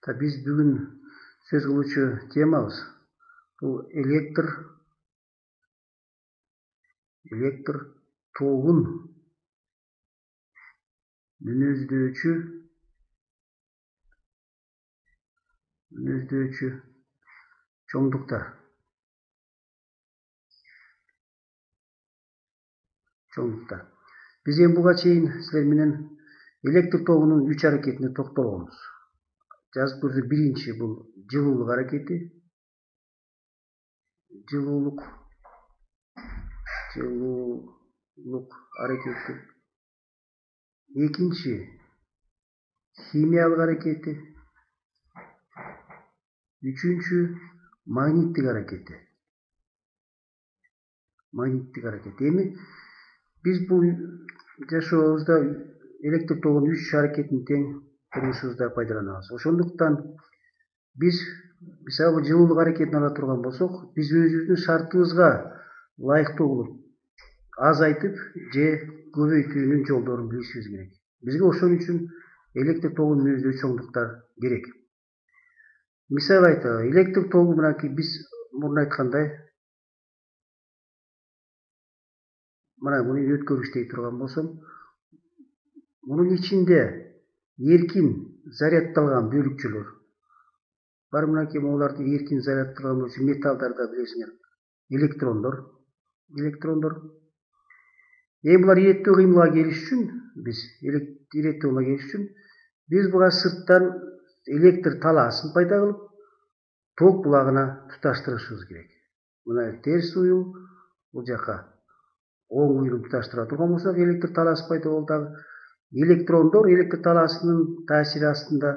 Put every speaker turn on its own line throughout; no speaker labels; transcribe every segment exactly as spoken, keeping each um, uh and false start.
Та биз бүгүн сөз кылуучу темабыз бул электр электр тогун мүнөздөчү мүнөздөчү чоңдуктар чоңдуктар биз эми буга чейин силер менен электр тогунун үч аракетине токтолгонбуз. Жазып көрсөк, биринчи бул жылуулук аракети, жылуулук жылуулук аракети. Экинчи химиялык аракети. Үчүнчү магниттик аракети. Магниттик аракети. Эми биз бул жашообузда электр тогунун үч аракетин тең турмушубузда пайдаланабыз. Ошондуктан биз мисалы жылуулук аракетин ала турган болсок, биз өзүбүздүн шартыбызга ылайыктуу кылып азайтып же көбөйтүүнүн жолдорун билишибиз керек. Бизге ошон үчүн электр тогун мүнөздөчү чоңдуктар керек. Мисал айталы, электр тогу мынакей биз мурун айткандай, мына муну өткөргүч дей турган болсом, мунун ичинде эркин заряддалган бөлүкчөлөр бар. Мынакей могуларды эркин заряддалган болчу металлдарда билесиңер, электрондор, электрондор. Эми булар иреттүү кыймылга келиш үчүн, биз иреттүү кыймылга келиш үчүн биз буга сырттан электр талаасын пайда кылып, ток булагына туташтырышыбыз керек. Мына терс уюл, бул жака оң уюлун туташтыра турган болсок, электр талаасы пайда болду. Дагы электрондор электр талаасынын таасири астында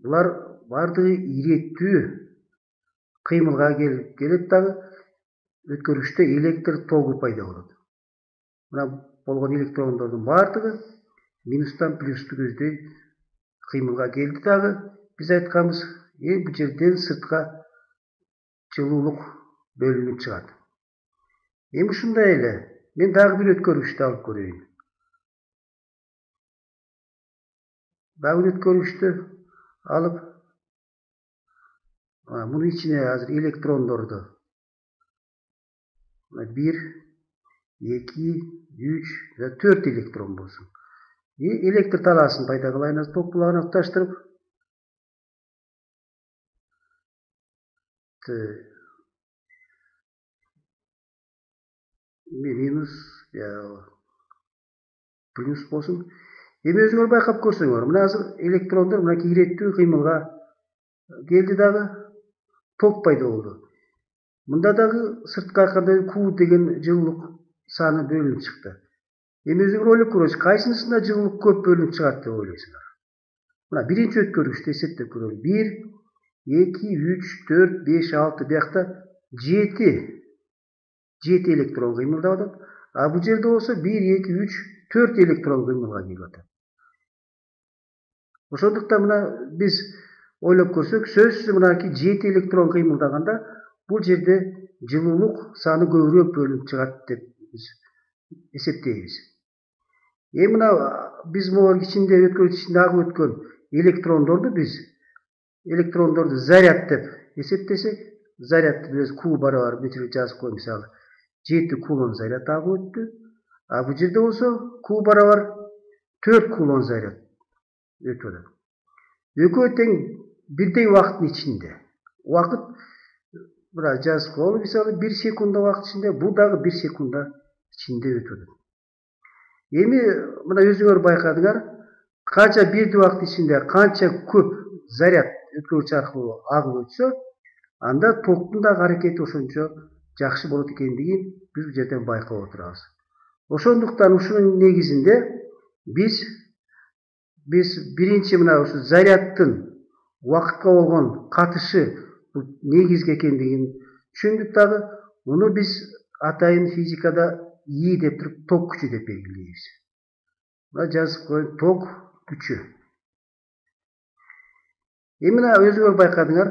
булар бардыгы иреттүү кыймылга келип келет. Дагы өткөргүчтө электр тогу пайда болот. Мына болгон электрондордун бардыгы минустан плюсту көздөй кыймылга келди. Дагы биз айтканбыз, эми бул жерден сыртка жылуулук бөлүнүп чыгат. Эми ушундай эле мен дагы бир өткөргүчтү алып көрөйүн. Дагы бир өткөргүчтү алып, мунун ичине азыр электрондорду бир, эки, үч, төрт электрон болсун. И электр талаасын пайда кылайын, ток булагына туташтырып, минус, плюс болсун. Эми өзүңөр байкап көрсөңөр, мына азыр электрондор мынакей иреттүү кыймылга келди, дагы ток пайда болду. Мында дагы сырткы айтканда Q деген жылуулук саны бөлүнүп чыкты. Эми өзүңөр ойлоп көрөңүз, кайсынысында жылуулук көп бөлүнүп чыгат деп ойлойсуңар? Мына биринчи өткөргүчтү эсептеп көрөлү. бир, эки, үч, төрт, беш, алты, биякта жети жети электрон кыймылдап атат. А бул жерде болсо бир, эки, үч, төрт электрон кыймылга келип атат. Ошондуктан мына биз ойлоп көрсөк, сөзсүз мынакей жети электрон кыймылдаганда бул жерде жылуулук саны көбүрөөк бөлүнүп чыгат деп биз эсептейбиз. Эми мына биз могу ичинде өткөргүч ичинде агып өткөн электрондорду биз электрондорду заряд деп эсептесек, заряд биз Q барабар мына жазып коеюн, мисалы жети кулон заряд агып өттү. А бул жерде болсо Q барабар төрт кулон заряд өтүп атат. Экөө тең бирдей убакыттын ичинде. Убакыт мына жазып коелу, мисалы бир секунда убакыт ичинде, бул дагы бир секунда ичинде өтүп атат. Эми мына өзүңөр байкадыңар, канча бирдей убакыт ичинде канча көп заряд өткөргүч аркылуу агып өтсө, анда токтун дагы аракети ошончо жакшы болот экендигин биз бул жерден байкап отурабыз. Ошондуктан ушунун негизинде биз биз биринчи мына ушу заряддын убакытка болгон катышы бул негизги экендигин түшүндүк. Дагы муну биз атайын физикада И деп туруп ток күчү деп белгилейбиз. Мына жазып коеюн, ток күчү. Эми мына өзүңөр байкадыңар,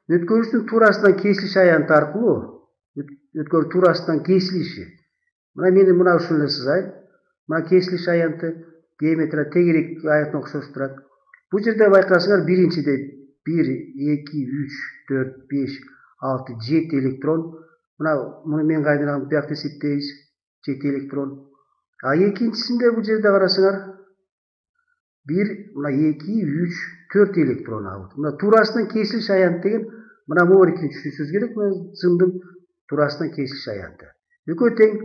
өткөргүчтүн туурасынан кесилиш аянты аркылуу, өткөргүч туурасынан кесилиши. Мына мени мына ушул эле сызайын. Мына кесилиш аянты геометрия тегерек аянтына окшош турат. Бул жерде байкасаңар, биринчиде бир эки үч төрт беш алты жети электрон. Мына муну мен кайдан биякта эсептейбиз. жети электрон. А экинчисинде бул жерде карасаңар бир, мына эки үч төрт электрон алып. Мына туурасынан кесилиш аянт деген мына могу түшүнүшүңүз керек. Мына зымдын туурасынан кесилиш аянты. Экөө тең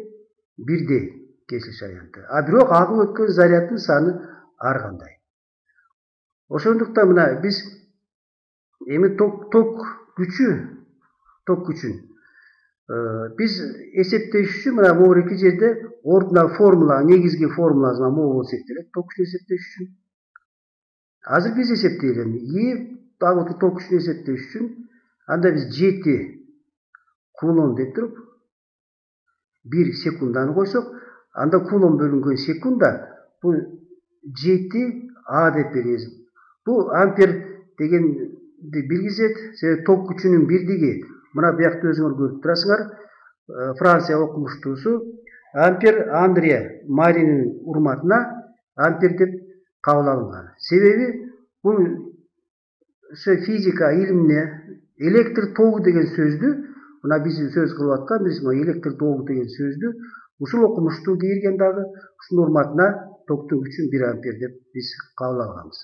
бирдей кесилиш аянты. А бирок агып өткөн заряддын саны ар кандай. Ошондуктан мына биз эми ток ток күчү, ток күчүн биз эсептеш үчүн мына могу жерде ордуна формула, негизги формуласы могу эсептелет. Ток күчүн эсептеш үчүн. Азыр биз эсептейли. И дагы ток күчүн эсептеш үчүн анда биз жети кулон деп туруп бир секунданы койсок, анда кулон бөлүнгөн секунда бул жети а деп беребиз. Бул ампер дегенди билгизет. Себеби ток күчүнүн бирдиги мына биякта өзүңөр көрүп турасыңар. Франция окумуштуусу ампер Андре Маринин урматына ампер деп кабыл алынган. Себеби бул физика илимине электр тогу деген сөздү мына биз сөз кылып аткан, биз электр тогу деген сөздү ушул окумуштуу кийирген дагы ушунун урматына токтун күчүн бир ампер деп биз кабыл алганбыз.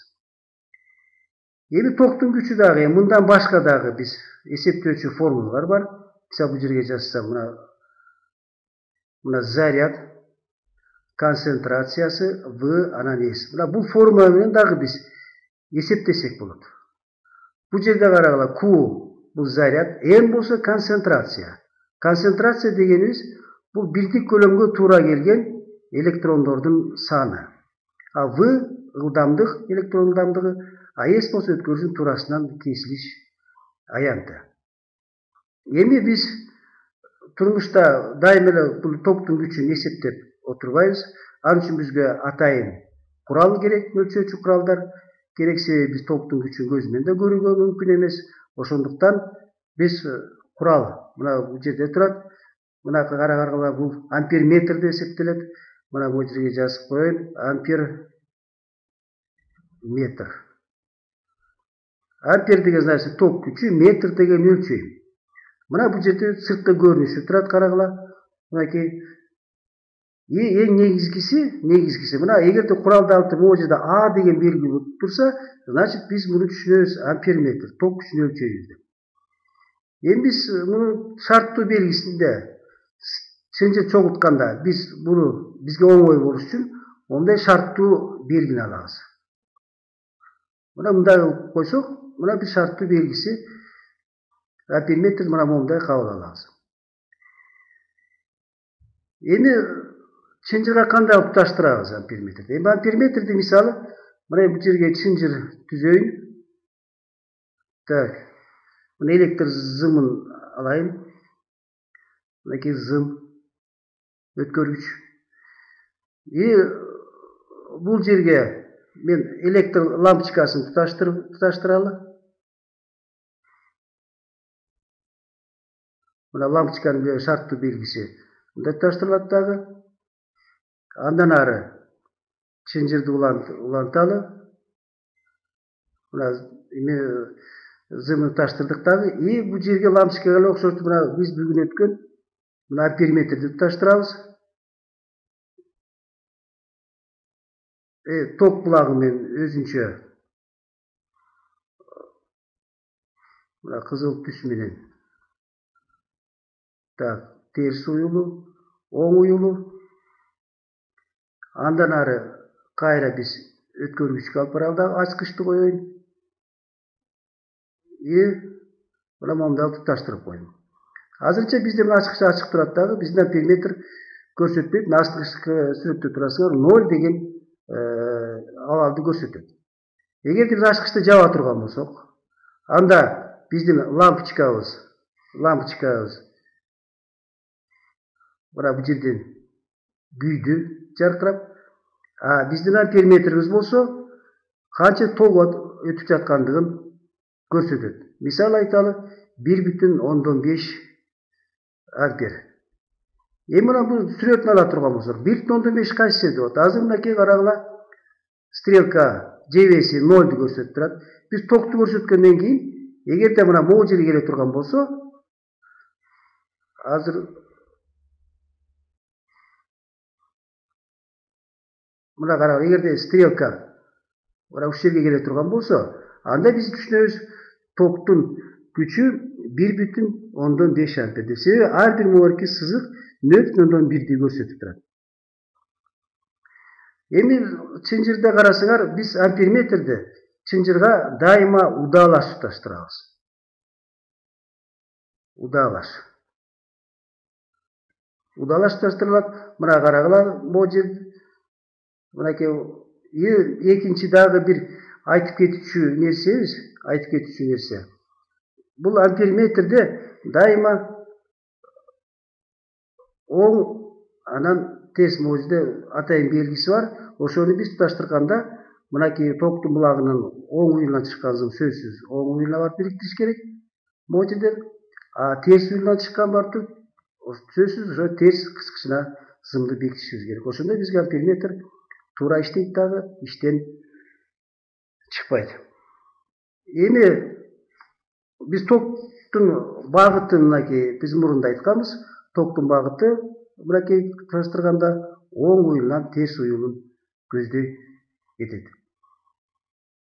Эми токтун күчү дагы мындан башка дагы биз эсептөөчү формулалар бар. Мисалы бул жерге жазсам мына мына заряд концентрациясы В анан S. Мына бул формула менен дагы биз эсептесек болот. Бул жерде карагыла Q бул заряд, N болсо концентрация. Концентрация дегенибиз бул бирдик көлөмгө туура келген электрондордун саны. А В ылдамдык, электрон ылдамдыгы, а S болсо өткөрүүчүнүн туурасынан кесилиш аянты. Эми биз турмушта дайыма эле бул токтун күчүн эсептеп отурбайбыз. Ал үчүн бизге атайын курал керек, өлчөөчү куралдар керек. Себеби биз токтун күчүн көз менен да көрүүгө мүмкүн эмес. Ошондуктан биз курал мына бул жерде турат. Мына караганга бул амперметр деп эсептелет. Мына бул жерге жазып коеюн. Ампер метр. Ампер деген значит ток күчү, метр деген өлчөм. Мына бул жерде сырткы көрүнүшү турат карагыла. Мынакей эң негизгиси, негизгиси мына эгерде куралды алып могу жерде А деген белги болуп турса, значит биз муну түшүнөбүз амперметр, ток күчүн өлчөйбүз деп. Эми биз муну шарттуу белгисинде чынжыр чогултканда биз буну бизге оңой болуш үчүн мондай шарттуу белгини алабыз. Мына мындай кылып койсок, мына биз шарттуу белгиси амперметр мына мондай кабыл алабыз. Эми чынжырга кандай кылып туташтырабыз амперметрди? Эми амперметрди мисалы мына бул жерге чынжыр түзөйүн. Так. Мына электр зымын алайын. Мынакей зым өткөргүч. И бул жерге мен электр лампочкасын туташтырып туташтыралы. Мына лампочканын шарттуу белгиси мындай туташтырылат дагы. Андан ары чынжырды уланталы. Мына эме зымды туташтырдык дагы. И бул жерге лампочкага окшоштуу мына биз бүгүн өткөн мына амперметрди туташтырабыз. Э ток булагы менен өзүнчө мына кызыл түс менен. Так, терс уюлу, оң уюлу. Андан ары кайра биз өткөргүчкө алып баралы дагы, ачкычты коеюн. И мына мондай туташтырып койдум. Азырынча бизде мына ачкыч ачык турат дагы, биздин амперметр көрсөтпөйт. Астыңкы сүрөттө турасыңар ноль деген абалды көрсөтөт. Эгерде биз ачкычты жаба турган болсок, анда биздин лампочкабыз, лампочкабыз мына бул жерден күйдү жаркырап, а биздин амперметрибиз болсо канча ток өтүп жаткандыгын көрсөтөт. Мисалы айталы бир бүтүн ондон беш ампер. Эми мына бул сүрөтүн ала турган болсок, бир бүтүн ондон беш кайсы жерде болот? Азыр мынакей карагыла, стрелка жебеси нолду көрсөтүп турат. Биз токту көрсөткөндөн кийин эгерде мына могу жерге келе турган болсо, азыр мына карагыла, эгерде стрелка мына ушул жерге келе турган болсо, анда биз түшүнөбүз токтун күчү бир бүтүн ондон беш ампер деп. Себеби ар бир могу сызык нөл бүтүн ондон бирди көрсөтүп турат. Эми чынжырда карасаңар, биз амперметрди чынжырга дайыма удаалаш туташтырабыз. Удаалаш. Удаалаш туташтырылат. Мына карагыла, могу жер мынакей экинчи дагы бир айтып кетүүчү нерсебиз, айтып кетүүчү нерсе. Бул амперметрде дайыма оң анан терс могу жерде атайын белгиси бар. Ошону биз туташтырганда мынакей токтун булагынын оң уюлунан чыккан зым сөзсүз оң уюлуна барып бириктириш керек. Могу жерден а терс уюлунан чыккан барып туруп сөзсүз ошо терс кыскычына зымды бекитишибиз керек. Ошондо бизге амперметр туура иштейт дагы, иштен чыкпайт. Эми биз токтун багытын мынакей биз мурунда айтканбыз. Токтун багыты мынакей туташтырганда оң уюлунан терс уюлун көздөй этет.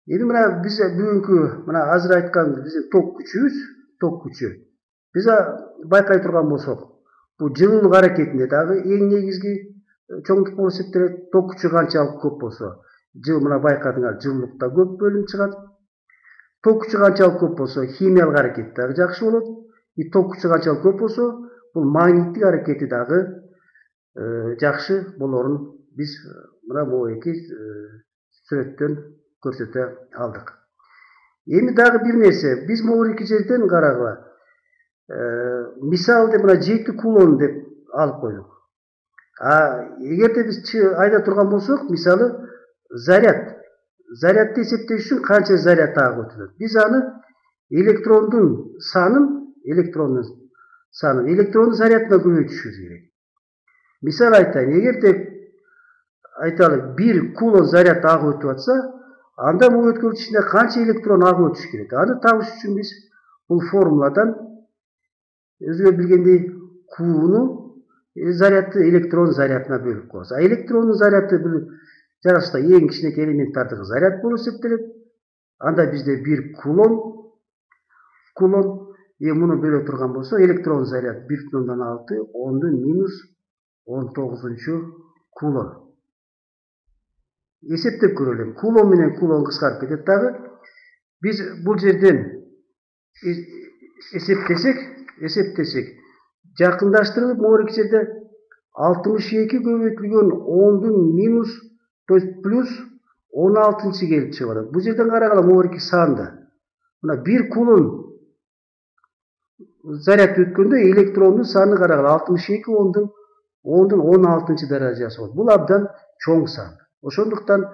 Эми мына биз бүгүнкү мына азыр айткан биздин ток күчүбүз, ток күчү. Биз байкай турган болсок, бул жылуулук аракетинде дагы эң негизги чоңдук болуп эсептелет. Ток күчү канчалык көп болсо, жыл мына байкадыңар, жылуулук да көп бөлүнүп чыгат. Ток күчү канчалык көп болсо, химиялык аракет дагы жакшы болот. И ток күчү канчалык көп болсо, бул магниттик аракети дагы жакшы болорун биз мына могуэки сүрөттөн көрсөтө алдык. Эми дагы бир нерсе, биз могуэки жерден карагыла, мисалы деп мына жети кулон деп алып койдук. А эгерде биз айда турган болсок, мисалы заряд, зарядды эсептеш үчүн канча заряд агып өтүлөт? Биз аны электрондун санын, электрондун санын, электрондун зарядына көбөйтүшүбүз керек. Мисалы айтайын, эгерде айталы бир кулон заряд агып өтүп атса, анда бул өткөрүүчү ичинде канча электрон агып өтүш керек? Аны табыш үчүн биз бул формуладан өзүңөр билгендей Q'ну зарядты электрон зарядына бөлүп коебуз. А электрондун заряды бул жаратылышта эң кичинекей элементтардагы заряд болуп эсептелет. Анда бизде бир кулон, кулон, эми муну бөлө турган болсо, электрон заряд бир бүтүн ондон алты, ондун минус он тогузунчу кулон. Эсептеп көрөлү. Кулон менен кулон кыскарып кетет дагы. Биз бул жерден эсептесек, эсептесек, жакындаштырылып могуэки жерде алтымыш эки көбөйтүлгөн ондун минус, то есть плюс он алтынчы келип чыгып атат. Бул жерден карагыла могуэки санда. Мына бир кулон заряд өткөндө электрондун саны карагыла алтымыш эки ондун ондун он алтынчы даражасы болот. Бул абдан чоң сан. Ошондуктан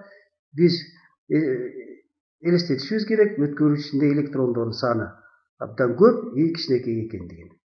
биз элестетишибиз керек, өткөрүүчү ичинде электрондордун саны абдан көп, и кичинекей экендигин.